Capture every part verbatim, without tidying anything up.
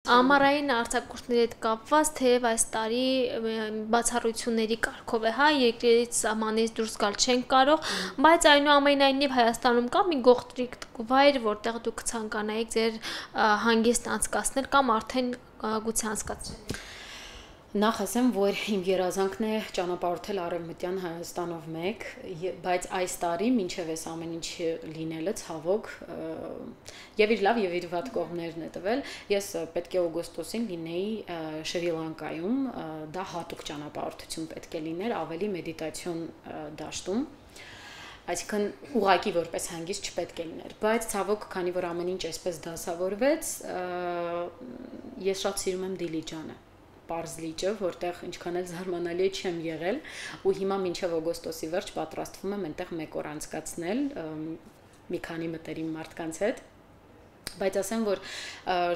Ամառային արձակուրդների հետ կապված թեև այս տարի բացառությունների կարգով է, հա, երկրից սահմանից դուրս գալ չեն կարող, բայց այնուամենայնիվ Հայաստանում կա մի գողտրիկ վայր, որտեղ դուք ցանկանայիք ձեր հանգիստ անցկացնել կամ արդեն գուցե անցկացրել։ Նախ ասեմ, որ իմ երազանքն է ճանապարհորդել Արևմտյան Հայաստանով մեկ, բայց այս տարի մինչև այս ամեն ինչ լինելը ցավոք եւ իր լավ եւ իր վատ կողմներն է տվել։ Ես պետք է օգոստոսին լինեի Շրի Լանկայում, դա հատուկ ճանապարհորդություն պետք է լիներ, ավելի մեդիտացիոն դաշտում։ Այսինքն ուղղակի որպես հանգիստ չպետք է լիներ, բայց ցավոք, քանի որ ամեն ինչ այսպես դասավորվեց, ես շատ սիրում եմ Դիլիջանը, Պարզ լիճը, որտեղ ինչքան էլ զարմանալի է չեմ եղել, ու հիմա մինչև օգոստոսի վերջ պատրաստվում եմ այնտեղ մեկ օր անցկացնել մի քանի մտերիմ մարդկանց հետ, բայց ասեմ, որ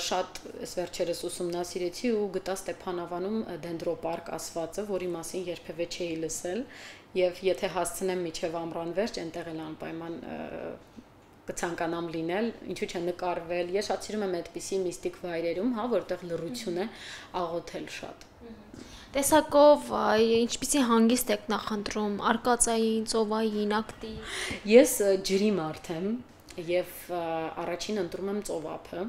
շատ այս վերջերս ուսումնասիրեցի ու գտա Ստեփանավանում դենդրոպարկ ասվածը, որի մասին երբևէ չէի լսել, եւ եթե հասցնեմ միջև ամռան վերջ, այնտեղ էլ անպայման կցանկանամ լինել, ինչու՞ չէ նկարվել։ Ես շատ սիրում եմ այդպիսի միստիկ վայրերում, հա, որտեղ լռություն է, աղոթել շատ։ Տեսակով ինչպիսի հանգիստ եք նախընտրում, արկածային, ծովային, ակտիվ։ Ես ջրի մարդ եմ եւ առաջին ընտրում եմ ծովափը,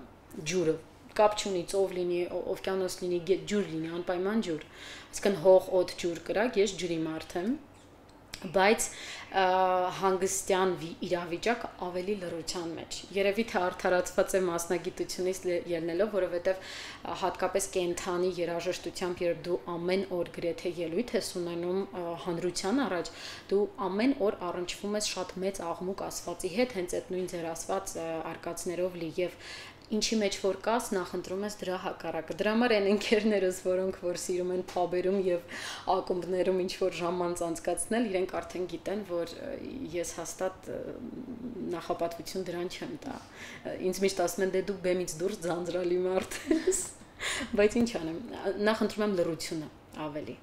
ջուրը։ Կապ չունի ծով լինի, օվկիանոս լինի, ջուր լինի, անպայման ջուր։ Այսինքն հող, օդ, ջուր կրակ, ես ջրի մարդ եմ։ Բայց հանգստյան իրավիճակ ավելի լռության մեջ։ Երևի թե արդարացված է մասնագիտությունից ելնելով, որովհետև հատկապես կենթանի երաժշտությամբ, երբ դու ամեն օր գրեթե ելույթ ես ունենում հանրության առաջ, դու ամեն օր առնչվում ես շատ մեծ աղմուկ ասվածի հետ, հենց այդ նույն ձեր ասված արկածներով լի եւ ինչի մեջ որ կաս, նախընտրում ես դրա հակառակը։ Դրա համար են ընկերներս, որոնք որ սիրում են փաբերում եւ ակումբներում ինչ որ ժամանց անցկացնել, իրենք արդեն գիտեն, որ ես հաստատ նախապատվություն դրան չեմ տա։ Ինձ միշտ ասում են, դե դու բեմից դուրս ձանձրալի մարդ ես։ Բայց ինչ անեմ, նախընտրում եմ լռությունը ավելի։